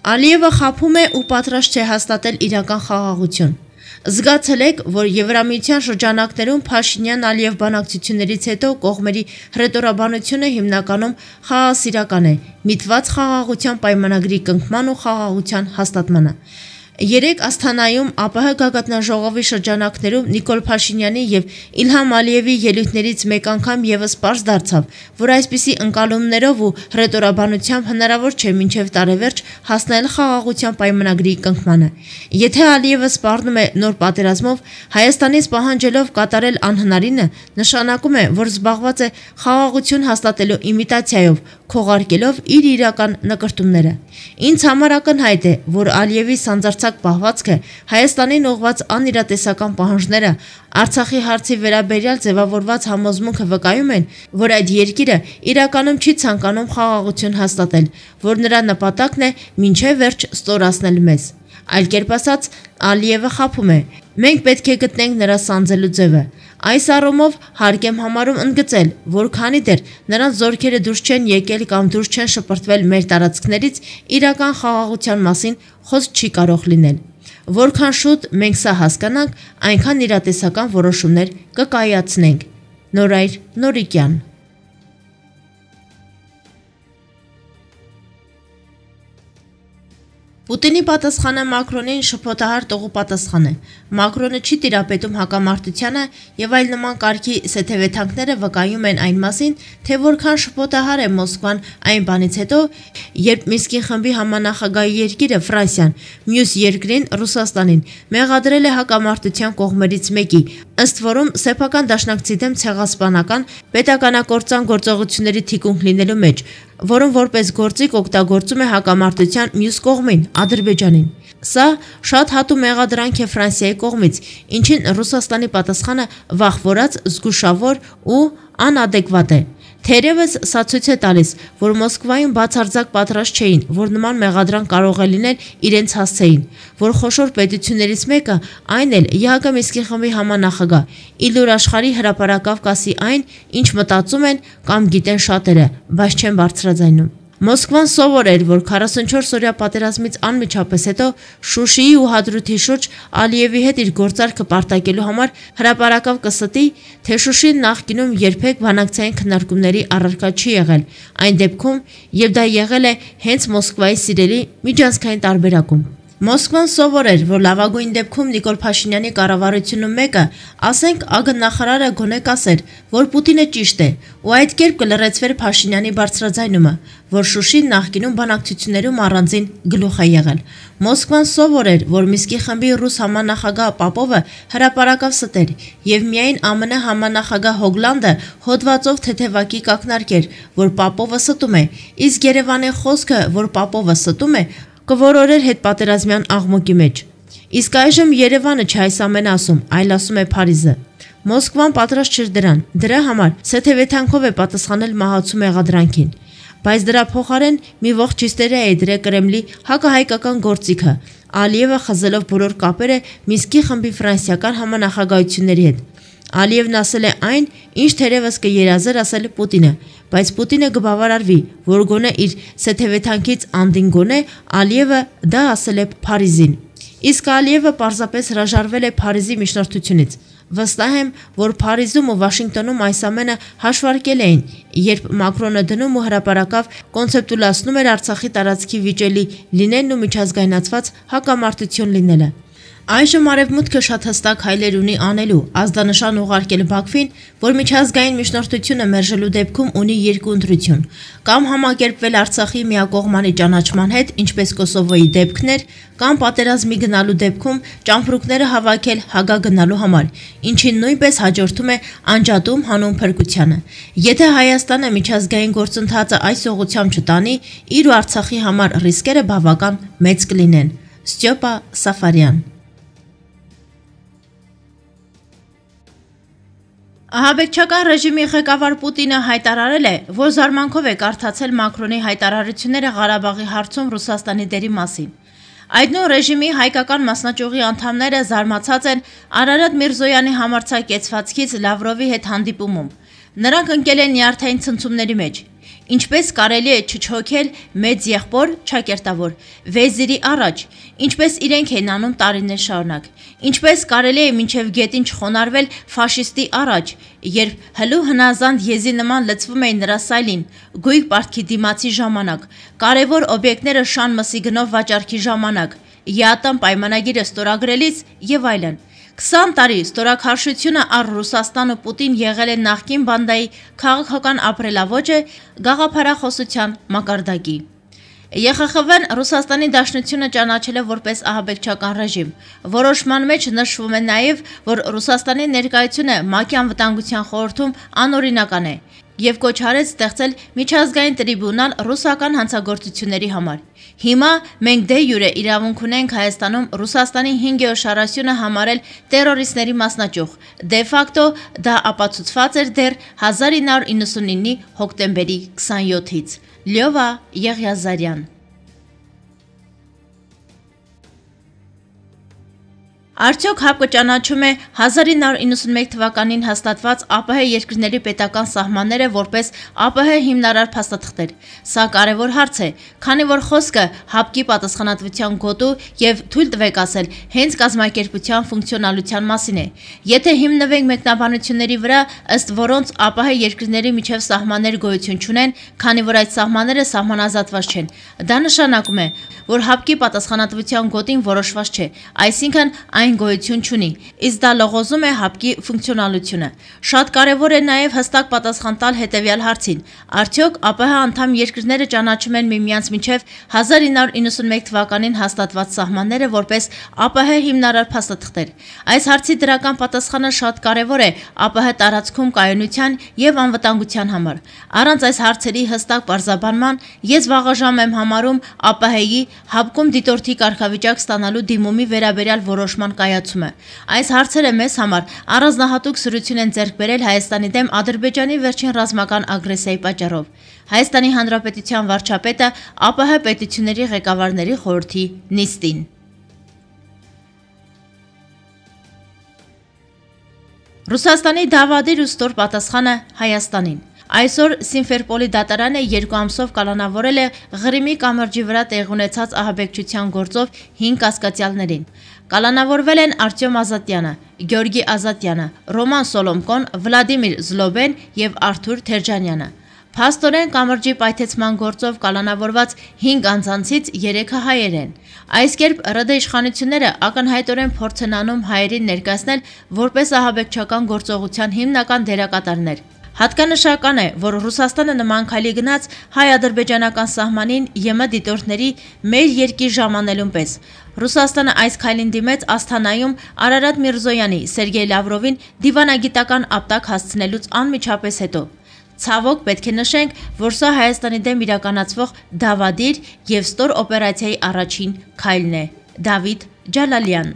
Ալիևը խաբում է ու պատրաստ չէ հաստատել իրական խաղաղություն։ Զգացել եք, որ Եվրամիության շրջանակներում Փաշինյան-Ալիև բանակցություններից հետո կողմերի հռետորաբանությունը հիմնականում խաղաղասիրական է, միտված խաղաղության պայմանագրի կնքման ու խաղաղության հաստատմանը։ Երեկ Ասթանայում ԱՊՀ գագաթնաժողովի շրջանակներում Նիկոլ Փաշինյանի եւ Իլհամ Ալիևի ելույթներից մեկ անգամ եւս պարզ դարձավ, որ այսպիսի ընկալումներով ու հռետորաբանությամբ հնարավոր չէ մինչեւ տարեվերջ հասնել խաղաղության պայմանագրի կնքմանը։ Եթե Ալիևը սպառնում է նոր պատերազմով, Հայաստանից պահանջելով կատարել անհնարինը, նշանակում է, որ զբաղված է խաղաղություն հաստատելու իմիտացիայով, քողարկելով իր իրական նկրտումները։ Ինձ համար ակնհայտ է, որ Ալիևի սանձարձակ պահվածքը, Հայաստանին ուղղված անիրատեսական պահանջները, Արցախի հարցի վերաբերյալ ձևավորված համոզմունքը վկայում են, որ այդ երկիրը իրականում չի ցանկանում խաղաղություն հաստատել, որ նրա նպատակն է մինչև վերջ ստորացնել մեզ։ Այլ կերպ ասած, Ալիևը խաբում է։ Մենք պետք է գտնենք նրա սանձելու ձևը։ Այս առումով հարկ եմ համարում ընդգծել, որ քանի դեռ նրանց զորքերը դուրս չեն եկել կամ դուրս չեն շպրտվել մեր տարածքներից, իրական խաղաղության մասին խոսք չի կարող լինել։ Որքան շուտ մենք սա հասկանանք, այնքան իրատեսական որոշումներ կկայացնենք։ Նորայր Նորիկյան։ Պուտինի պատասխանը Մակրոնին շփոթահար տողու պատասխան է։ Մակրոնը չի տիրապետում հակամարտությանը եւ այլ նման կարգի սեթեվեթանքները վկայում են այն մասին, թե որքան շփոթահար է Մոսկվան այն բանից հետո, երբ Մինսկի խմբի համանախագահի երկիրը Ֆրանսիան, մյուս երկրին Ռուսաստանին մեղադրել է հակամարտության կողմերից մեկի, ըստ որում սեփական դաշնակցի դեմ ցեղասպանական պետականակործան գործողությունների թիկունք լինելու մեջ, որում որպես գործիք օգտագործում է հակամարտության մյուս կողմին, Ադրբեջանին։ Սա շատ հատու մեղադրանք է Ֆրանսիայի կողմից, ինչին Ռուսաստանի պատասխանը վախվորած, զգուշավոր ու անադեկվատ է։ Թերևս սա ցույց է տալիս, որ Մոսկվայում բացարձակ պատրաստ չէին, որ նման մեղադրանք կարող է լինել իրենց հասցեին, որ խոշոր պետություններից մեկը, այն էլ ԵԱՀԿ Մինսկի խմբի համանախագահ, իլուր աշխարհի հրապարակավ կասի այն, ինչ մտածում են կամ գիտեն շատերը, բայց չեն բարձրաձայնում։ Մոսկվան սովոր էր, որ 44-օրյա պատերազմից անմիջապես հետո Շուշիի ու Հադրութի շուրջ Ալիևի հետ իր գործարքը պարտակելու համար հրապարակավ կստի, թե Շուշին նախկինում երբեք բանակցային քննարկումների առարկա չի եղել, այն դեպքում, եւ դա եղել է հենց Մոսկվայի սիրելի միջանցքային տարբերակում։ Մոսկվան սովոր էր, որ լավագույն դեպքում Նիկոլ Փաշինյանի կառավարությունում մեկը, ասենք ԱԳ նախարարը գոնե կասեր, որ Պուտինը ճիշտ է, ու այդ կերպ կլրացվեր Փաշինյանի բարձրաձայնումը, որ Շուշին նախկինում բանակցություններում առանձին գլուխ է եղել։ Մոսկվան սովոր էր, որ Մինսկի խմբի ռուս համանախագահ Պապովը հրապարակավ ստեր, եւ միայն ԱՄՆ համանախագահ Հոգլանդը հոդվածով թեթևակի կակնարկեր, որ Պապովը ստում է, իսկ Երևանի խոսքը, որ Պապովը ստում է, կորորեր հետպատերազմյան աղմուկի մեջ։ Իսկ այժմ Երևանը չէ այս ամենը ասում, այլ ասում է Փարիզը։ Մոսկվան պատրաստ չէր դրան, դրա համար սեթեվեթանքով է պատասխանել մահացու մեղադրանքին։ Բայց դրա փոխարեն մի ողջ հիստերիա է դրել Կրեմլի հակահայկական գործիքը, Ալիևը խզելով բոլոր կապերը Մինսկի խմբի ֆրանսիական համանախագահությունների հետ։ Ալիևն ասել է այն, ինչ թերևս կերազեր ասել Պուտինը, բայց Պուտինը կբավարարվի, որ գոնե իր սեթեվեթանքից անդին գոնե Ալիևը դա ասել է Փարիզին։ Իսկ Ալիևը պարզապես հրաժարվել է Փարիզի միջնորդությունից։ Վստահ եմ, որ Փարիզում ու Վաշինգտոնում այս ամենը հաշվարկել էին, երբ Մակրոնը դնում ու հրապարակավ կոնցեպտուլացնում էր Արցախի տարածքի վիճելի լինելն ու միջազգայնացված հակամարտություն լինելը։ Այժմ Արևմուտքը շատ հստակ հայլեր ունի անելու, ազդանշան ուղարկել Բաքվին, որ միջազգային միջնորդությունը մերժելու դեպքում ունի երկու ընտրություն, կամ համակերպվել Արցախի միակողմանի ճանաչման հետ, ինչպես Կոսովոյի դեպքն էր, կամ պատերազմի գնալու դեպքում ճամփրուկները հավաքել Հագա գնալու համար, ինչին նույնպես հաջորդում է անջատում հանուն փրկությանը։ Եթե Հայաստանը միջազգային գործընթացը այս ուղղությամբ չտանի, իր ու Արցախի համար ռիսկերը բավական մեծ կլինեն։ Ստյոպա Սաֆարյան։ Ահաբեկչական ռեժիմի ղեկավար Պուտինը հայտարարել է, որ զարմանքով է կարդացել Մակրոնի հայտարարությունները Ղարաբաղի հարցում Ռուսաստանի դերի մասին։ Այդ նույն ռեժիմի հայկական մասնաճյուղի անդամները զարմացած են Արարատ Միրզոյանի համարձակ կեցվածքից Լավրովի հետ հանդիպումում։ Նրանք ընկել են նյարդային ցնցումների մեջ։ Ինչպես կարելի է չչոքել մեծ եղբոր ճակերտավոր վեզիրի առաջ, ինչպես իրենք են անում տարիներ շարունակ, ինչպես կարելի է մինչև գետին չխոնարհվել ֆաշիստի առաջ, երբ հլու հնազանդ եզի նման լցվում էին նրա սայլին, գույք պարտքի դիմացի ժամանակ, կարևոր օբյեկտները շան մսի գնով վաճառքի ժամանակ, ԵԱՏՄ պայմանագիրը ստորագրելիս եւ այլն։ 20 տարի ստորաքարշությունը առ Ռուսաստան ու Պուտին եղել է նախկին բանդայի քաղաքական ապրելավոճը գաղափարախոսության մակարդակի։ ԵԽԽՎ-ն Ռուսաստանի Դաշնությունը ճանաչել է որպես ահաբեկչական ռեժիմ։ Որոշման մեջ նշվում է նաև, որ Ռուսաստանի ներկայությունը ՄԱԿ-ի անվտանգության խորհրդում անօրինական է եւ կոչ արեց ստեղծել միջազգային տրիբունալ ռուսական հանցագործությունների համար։ Հիմա մենք դե յուրե իրավունք ունենք Հայաստանում Ռուսաստանի 5-րդ համարել տերորիստների մասնաճյուղ։ Դե ֆակտո դա ապացուցված էր դեռ 1999-ի հոկտեմբերի 27-ից։ Լյովա Եղիազարյան։ Արդյոք ՀԱՊԿ ճանաչում է 1991 թվականին հաստատված ԱՊՀ երկրների պետական սահմանները որպես ԱՊՀ հիմնարար փաստաթղթեր։ Սա կարևոր հարց է, քանի որ խոսքը ՀԱՊԿ-ի պատասխանատվության գոտու եւ թույլ տվեք ասել հենց կազմակերպության ֆունկցիոնալության մասին է։ Եթե հիմնվենք մեկնաբանությունների վրա, ըստ որոնց ԱՊՀ երկրների միջև սահմաններ գոյություն չունեն, քանի որ այդ սահմանները սահմանազատված չեն, դա նշանակում է, որ ՀԱՊԿ-ի պատասխանատվության գոտին որոշված չէ, այսինքն այն գոյություն չունի, իսկ դա լողոզում է ՀԱՊԿ-ի ֆունկցիոնալությունը։ Շատ կարևոր է նաև հստակ պատասխան տալ հետևյալ հարցին. արդյոք ԱՊՀ անդամ երկրները ճանաչում են միմյանց միջև 1991 թվականին հաստատված սահմանները որպես ԱՊՀ հիմնարար փաստաթղթեր։ Այս հարցի դրական պատասխանը շատ կարևոր է ԱՊՀ տարածքում կայունության եւ անվտանգության համար։ Առանց այս հարցերի հստակ պարզաբանման ես վաղաժամ եմ համարում ԱՊՀ-ի ՀԱՊԿ-ում դիտորդի կարգավիճակ ստանալու դիմումի վերաբերյալ որոշման կայացումը։ Այս հարցերը մեզ համար առանձնահատուկ սրություն են ձեռք բերել Հայաստանի դեմ Ադրբեջանի վերջին ռազմական ագրեսիայի պատճառով։ Հայաստանի Հանրապետության վարչապետը ԱՊՀ պետությունների ղեկավարների խորհրդի նիստին։ Ռուսաստանի դավադիր ու ստոր պատասխանը Հայաստանին։ Այսօր Սիմֆերպոլի դատարանը 2 ամսով կալանավորել է Ղրիմի կամրջի վրա տեղի ունեցած ահաբեկչության գործով 5 կասկածյալներին։ Կալանավորվել են Արտյոմ Ազատյանը, Գյորգի Ազատյանը, Ռոման Սոլոմկոն, Վլադիմիր Զլոբեն եւ Արթուր Թերջանյանը։ Փաստորեն կամրջի պայթեցման գործով կալանավորված 5 անձանցից 3-ը հայեր են։ Այս կերպ ՌԴ իշխանությունները ակնհայտորեն փորձ են անում հայերին ներկայացնել որպես ահաբեկչական գործողության հիմնական դերակատարներ։ Հատկանշական է, որ Ռուսաստանը նման քայլի գնաց հայ-ադրբեջանական սահմանին ԵՄ դիտորդների մեր երկիր ժամանելուն պես։ Ռուսաստանը այս քայլին դիմեց Ասթանայում Արարատ Միրզոյանի, Սերգեյ Լավրովին դիվանագիտական ապտակ հասցնելուց անմիջապես հետո։ Ցավոք պետք է նշենք, որ սա Հայաստանի դեմ իրականացվող դավադիր եւ ստոր օպերացիայի առաջին քայլն է։ Դավիթ Ջալալյան։